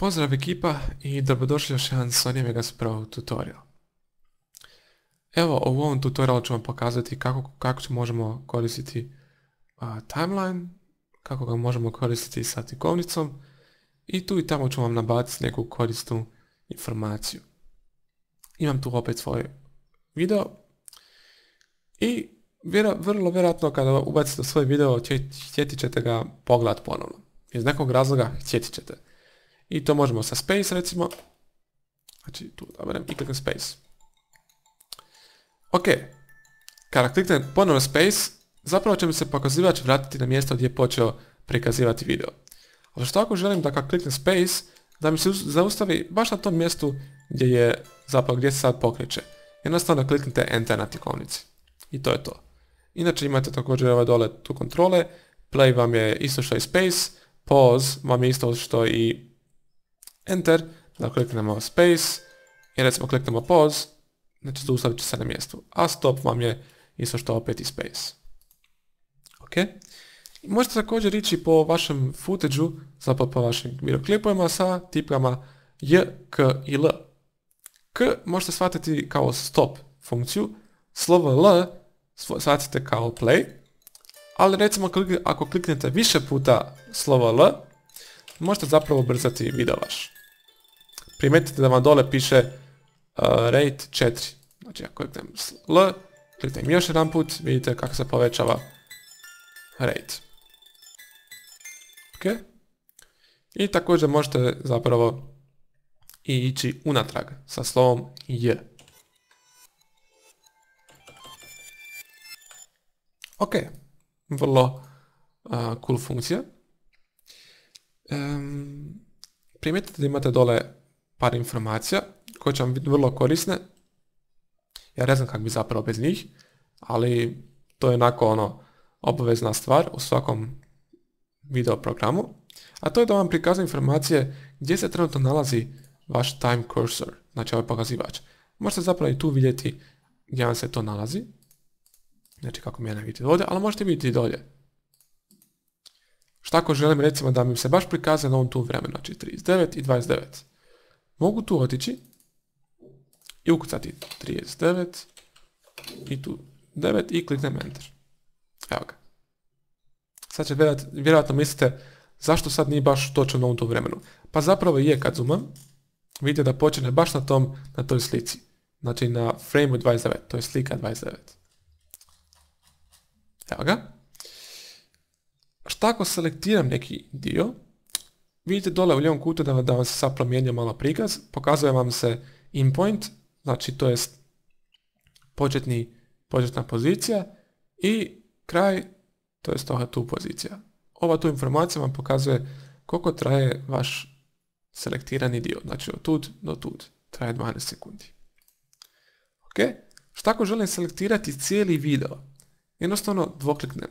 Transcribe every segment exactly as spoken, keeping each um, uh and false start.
Pozdrav ekipa i dobrodošli još jedan Sony Vegas Pro tutorial. Evo, u ovom tutorialu ću vam pokazati kako, kako možemo koristiti uh, timeline, kako ga možemo koristiti sa tikovnicom i tu i tamo ću vam nabaciti neku korisnu informaciju. Imam tu opet svoj video i vjera, vrlo vjerojatno kada ubacite svoj video htjeti ćete ga pogledati ponovno. Iz nekog razloga htjeti ćete. I to možemo sa space recimo. Znači tu odaberem i kliknem space. Ok. Kada kliknem ponovno space, zapravo će mi se pokazivač vratiti na mjesto gdje je počeo prikazivati video. Ali što ako želim da kad kliknem space, da mi se zaustavi baš na tom mjestu gdje je zapravo gdje se sad pokreće. Jednostavno kliknite enter na tikovnici. I to je to. Inače imate također ove dole tu kontrole. Play vam je isto što i space. Pause vam je isto što i enter, da kliknemo space i recimo kliknemo pause, znači zaustavit će se na mjestu, a stop vam je isto što opet i space. Ok. I možete također ići po vašem footage-u, zapravo po vašim videoklipovima sa tipkama J, K i L. K možete shvatiti kao stop funkciju, slovo L shvatite kao play, ali recimo ako kliknete više puta slovo L, možete zapravo ubrzati video vaš. Primetite da vam dole piše uh, rate četiri. Znači ako kliknem L, kliknem još jedan put, vidite kako se povećava rate. Ok. I također možete zapravo i ići unatrag sa slovom J. Ok. Vrlo uh, cool funkcija. Um, primijetite da imate dole par informacija koje će vam biti vrlo korisne. Ja ne znam kako bi zapravo bez njih, ali to je onako ono obavezna stvar u svakom video programu. A to je da vam prikazuje informacije gdje se trenutno nalazi vaš time cursor, znači ovaj pokazivač. Možete zapravo i tu vidjeti gdje vam se to nalazi. Znači kako mi je ne vidite ovdje, ali možete vidjeti i dolje. Šta ako želim recimo da mi se baš prikazuje na ovom tu vremenu, znači trideset devet i dvadeset devet. Mogu tu otići i ukucati trideset devet i tu devet i kliknem enter. Evo ga. Sad će vjerojatno, vjerojatno mislite zašto sad nije baš točno na ovom tu vremenu. Pa zapravo je kad zoomam, vidite da počne baš na tom, na toj slici. Znači na frame dvadeset devet, to je slika dvadeset devet. Evo ga. Šta ako selektiram neki dio, vidite dole u lijevom kutu da, da vam se sad promijenio malo prikaz, pokazuje vam se in point, znači to je početni, početna pozicija i kraj, to je ova tu pozicija. Ova tu informacija vam pokazuje koliko traje vaš selektirani dio, znači od tud do tud, traje dvanaest sekundi. Ok, šta ako želim selektirati cijeli video, jednostavno dvokliknem.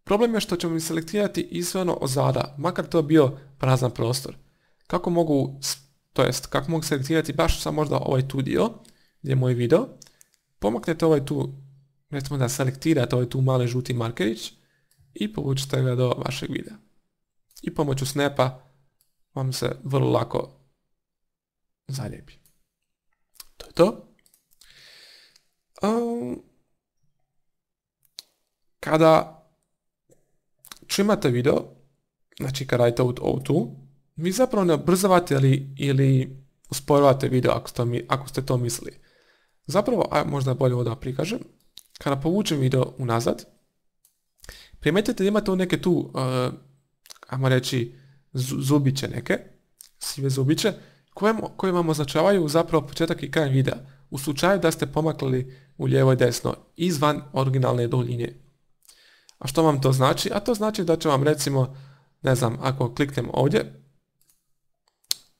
Problem je što ćemo mi selektirati i sve ono ozada, makar to bio prazan prostor. Kako mogu, to jest, kako mogu selektirati baš samo možda ovaj tu dio, gdje je moj video, pomaknete ovaj tu, recimo da selektirate ovaj tu mali žuti markerić i povučete ga do vašeg videa. I pomoću snapa vam se vrlo lako zalijepi. To je to. Um, kada imate video, znači kada radite ovo tu, vi zapravo ne ubrzavate ili, ili usporavate video ako ste, ako ste to mislili. Zapravo, a možda bolje ovo da prikažem, kada povučem video unazad, primetite da imate neke tu, uh, ajmo reći, zubiće neke, sive zubiće, koje, koje vam označavaju zapravo početak i kraj videa, u slučaju da ste pomakli u lijevo i desno, izvan originalne duljine. A što vam to znači? A to znači da će vam recimo, ne znam, ako kliknem ovdje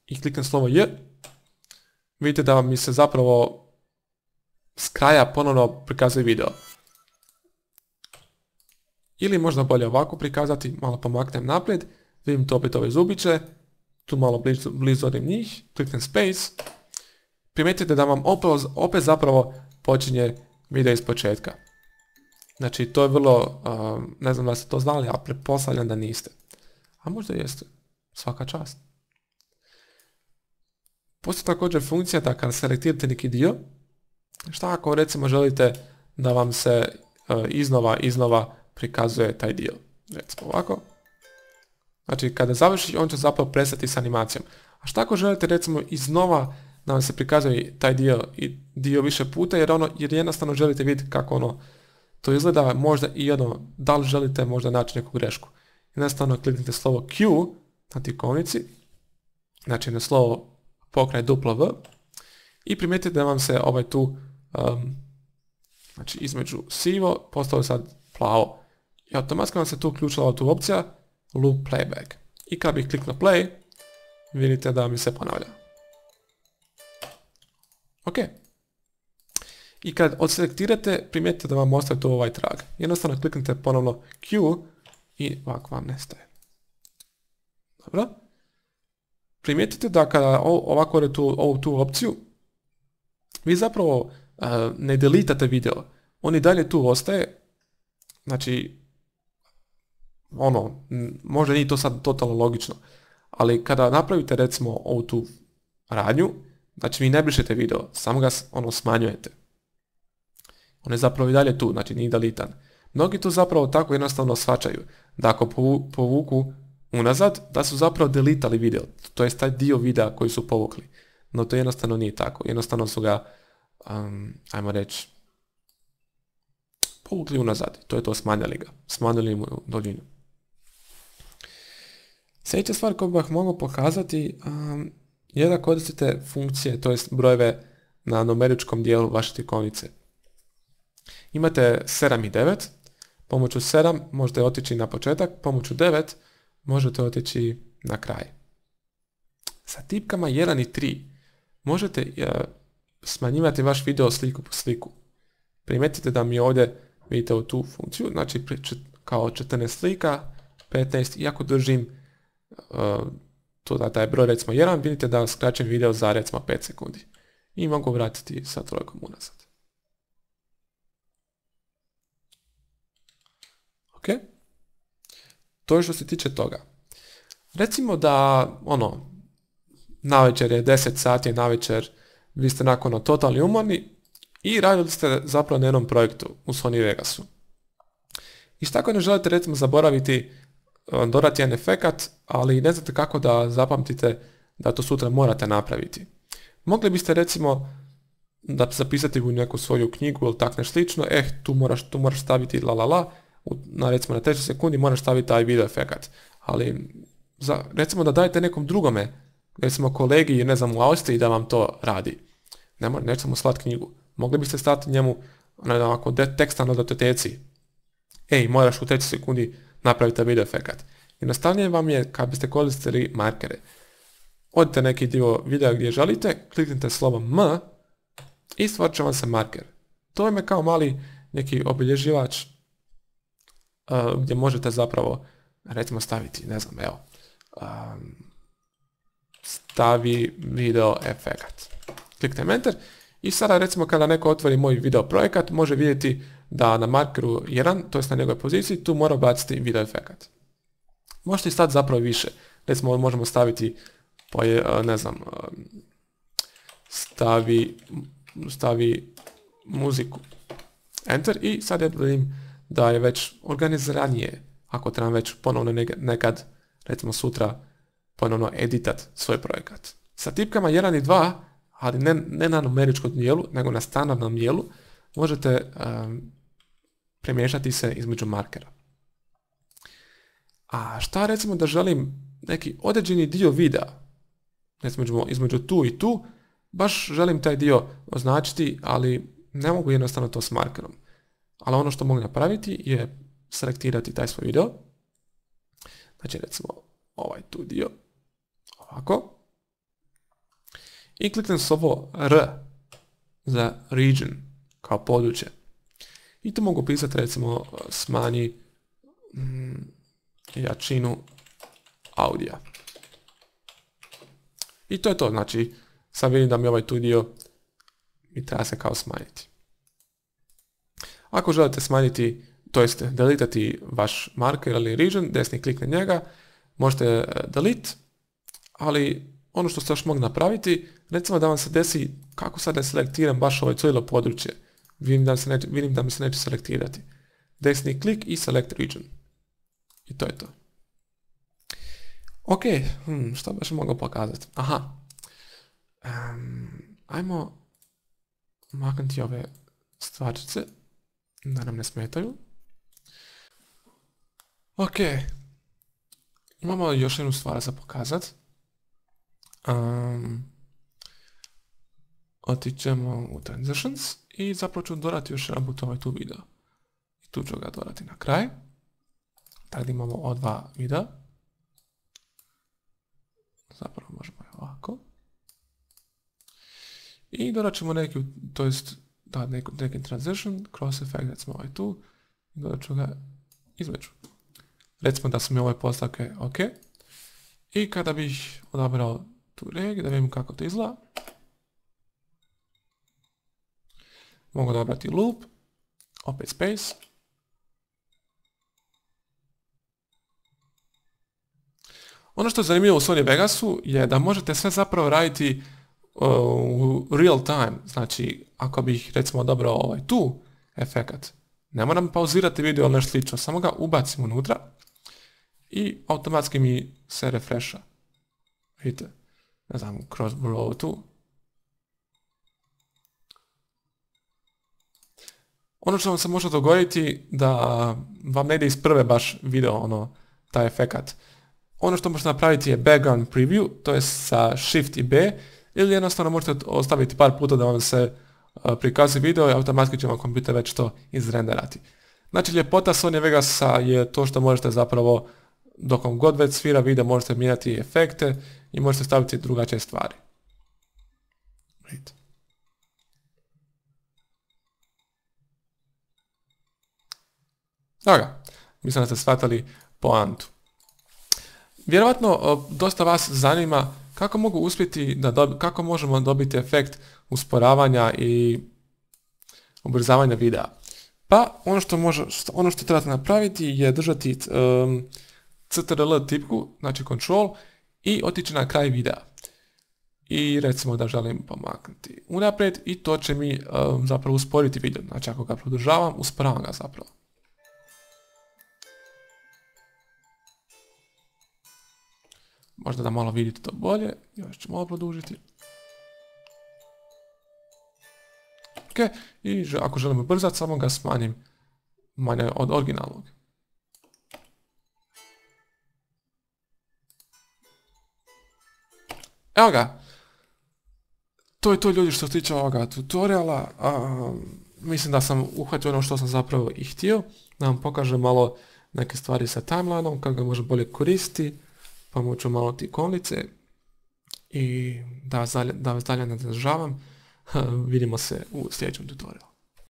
i kliknem slovo J, vidite da vam mi se zapravo s kraja ponovno prikazuje video. Ili možda bolje ovako prikazati, malo pomaknem naprijed, vidim to opet ove zubiće, tu malo blizu, blizu odim njih, kliknem space, primijetite da vam opet, opet zapravo počinje video iz početka. Znači to je vrlo, uh, ne znam da ste to znali, a pretpostavljam da niste. A možda jeste. Svaka čast. Postoji također funkcija da kada selektirate neki dio, šta ako recimo želite da vam se uh, iznova, iznova prikazuje taj dio. Recimo ovako. Znači kada završi on će zapravo prestati s animacijom. A šta ako želite recimo iznova da vam se prikazuje taj dio i dio više puta jer ono, jer jednostavno želite vidjeti kako ono to izgleda, možda i ono, da li želite možda naći neku grešku. Jednostavno kliknite slovo Q na tikovnici, znači na slovo pokraj duplo V i primijetite da vam se ovaj tu, um, znači između sivo, postalo sad plavo. I automatski vam se tu uključila ova tu opcija Loop Playback. I kad bih kliknuo Play, vidite da mi se ponavlja. Ok. I kad odselektirate, primijetite da vam ostaje tu ovaj trag. Jednostavno kliknite ponovno Q i ovako vam nestaje. Dobro. Primijetite da kada ovako odete ovu tu opciju, vi zapravo uh, ne delitate video. On i dalje tu ostaje. Znači, ono, možda nije to sad totalno logično, ali kada napravite recimo ovu tu radnju, znači vi ne brišete video, samo ga ono smanjujete. On je zapravo i dalje tu, znači nije delitan. Mnogi to zapravo tako jednostavno shvaćaju, da ako povuku unazad, da su zapravo delitali video, to je taj dio videa koji su povukli. No to jednostavno nije tako, jednostavno su ga, um, ajmo reći, povukli unazad, to je to, smanjali ga, smanjili mu duljinu. Sljedeća stvar koju bih mogao pokazati um, je da koristite funkcije, to jest brojeve na numeričkom dijelu vaše tikovnice. Imate sedam i devet, pomoću sedam možete otići na početak, pomoću devet možete otići na kraj. Sa tipkama jedan i tri možete uh, smanjivati vaš video sliku po sliku. Primijetite da mi ovdje vidite u tu funkciju, znači kao četrnaest slika, petnaest, i ako držim uh, to da taj broj recimo jedan, vidite da skraćem video za recimo pet sekundi. I mogu vratiti sa trojkom unazad. Ok? To je što se tiče toga. Recimo da, ono, navečer je deset sati, navečer, vi ste nakon totalni umorni i radili ste zapravo na jednom projektu u Sony Vegasu. I što ako ne želite recimo zaboraviti dodati jedan efekat, ali ne znate kako da zapamtite da to sutra morate napraviti. Mogli biste recimo da zapisati u neku svoju knjigu ili tak nešto slično, eh, tu moraš, tu moraš staviti la la la, na recimo na trećoj sekundi moraš staviti taj video efekat. Ali za, recimo da dajete nekom drugome, recimo kolegi, ne znam, u Austriji da vam to radi. Ne mora, nećete mu slati knjigu. Mogli biste stati njemu onako teksta na datoteci. Ej, moraš u trećoj sekundi napravite video efekat. Jednostavnije vam je kad biste koristili markere. Odite neki dio videa gdje želite, kliknite slovo M i stvorit će vam se marker. To je kao mali neki obilježivač uh, gdje možete zapravo recimo staviti, ne znam, evo, um, stavi video efekat. Kliknite Enter i sada recimo kada neko otvori moj video projekat može vidjeti da na markeru jedan, to je na njegovoj poziciji, tu mora baciti video efekat. Možete staviti zapravo više. Recimo možemo staviti, ne znam, stavi, stavi muziku. Enter i sad ja vidim da je već organiziranije, ako trebam već ponovno nekad, recimo sutra, ponovno editat svoj projekat. Sa tipkama jedan i dva, ali ne, ne na numeričkom dijelu, nego na standardnom dijelu, možete um, premješati se između markera. A šta recimo da želim neki određeni dio videa, recimo između tu i tu, baš želim taj dio označiti, ali ne mogu jednostavno to s markerom. Ali ono što mogu napraviti je selektirati taj svoj video. Znači recimo ovaj tu dio, ovako. I kliknem slovo R za region, kao područje. I tu mogu pisati recimo smanji mm, jačinu audija. I to je to, znači sad vidim da mi ovaj tu dio mi treba se kao smanjiti. Ako želite smanjiti, to jest deletati vaš marker ili region, desni klik na njega, možete delete, ali ono što ste još mogli napraviti, Recimo da vam se desi, kako sad ne selektiram baš ovo cijelo područje. Vidim da, se neće, vidim da mi se neće selektirati. Desni klik i select region. I to je to. Ok, hmm, što baš mogao pokazati? Aha. Um, ajmo maknuti ove stvarčice da nam ne smetaju. Ok. Imamo još jednu stvar za pokazat. Um, otićemo u transitions i zapravo ću dodati još jedan put ovaj tu video. I tu ću ga dodati na kraj. Tako da imamo ova dva videa. Zapravo možemo je ovako. I dodat ćemo neki, to jest da neki, neki transition, cross effect, recimo ovaj tu. I dodat ću ga između. Recimo da su mi ove postavke ok. I kada bih odabrao tu regiju, da vidim kako to izgleda. Mogu odabrati loop, opet space. Ono što je zanimljivo u Sony Vegasu je da možete sve zapravo raditi uh, u real time. Znači, ako bih recimo odabrao ovaj tu efekat, ne moram pauzirati video ili nešto slično, samo ga ubacim unutra i automatski mi se refresha. Vidite, ne znam, kroz ovo tu. Ono što vam se može dogoditi da vam ne ide iz prve baš video, ono, taj efekat. Ono što možete napraviti je background preview, to je sa Shift i B, ili jednostavno možete ostaviti par puta da vam se uh, prikazi video i automatski će vam kompjuter već to izrenderati. Znači, ljepota Sony Vegasa je to što možete zapravo, dok vam god već svira video, možete mijenjati efekte i možete staviti drugačije stvari. Vidite. Dobro, mislim da ste shvatili poantu. Vjerovatno dosta vas zanima kako mogu uspjeti da dobi, kako možemo dobiti efekt usporavanja i ubrzavanja videa. Pa ono što može, ono što trebate napraviti je držati um, Ctrl tipku, znači control, i otići na kraj videa. I recimo da želim pomaknuti unaprijed i to će mi um, zapravo usporiti video. Znači ako ga produžavam, usporavam ga zapravo. Možda da malo vidite to bolje, još ću malo produžiti. Ok, i ako želim ubrzati, samo ga smanjim manje od originalnog. Evo ga. To je to, ljudi, što se tiče ovoga tutoriala. A, mislim da sam uhvatio ono što sam zapravo i htio. Da vam pokažem malo neke stvari sa timelineom, kako ga može bolje koristiti. Pomoću malo ti ikonlice i da vas dalje, da vas dalje ne zadržavam. Vidimo se u sljedećem tutorialu.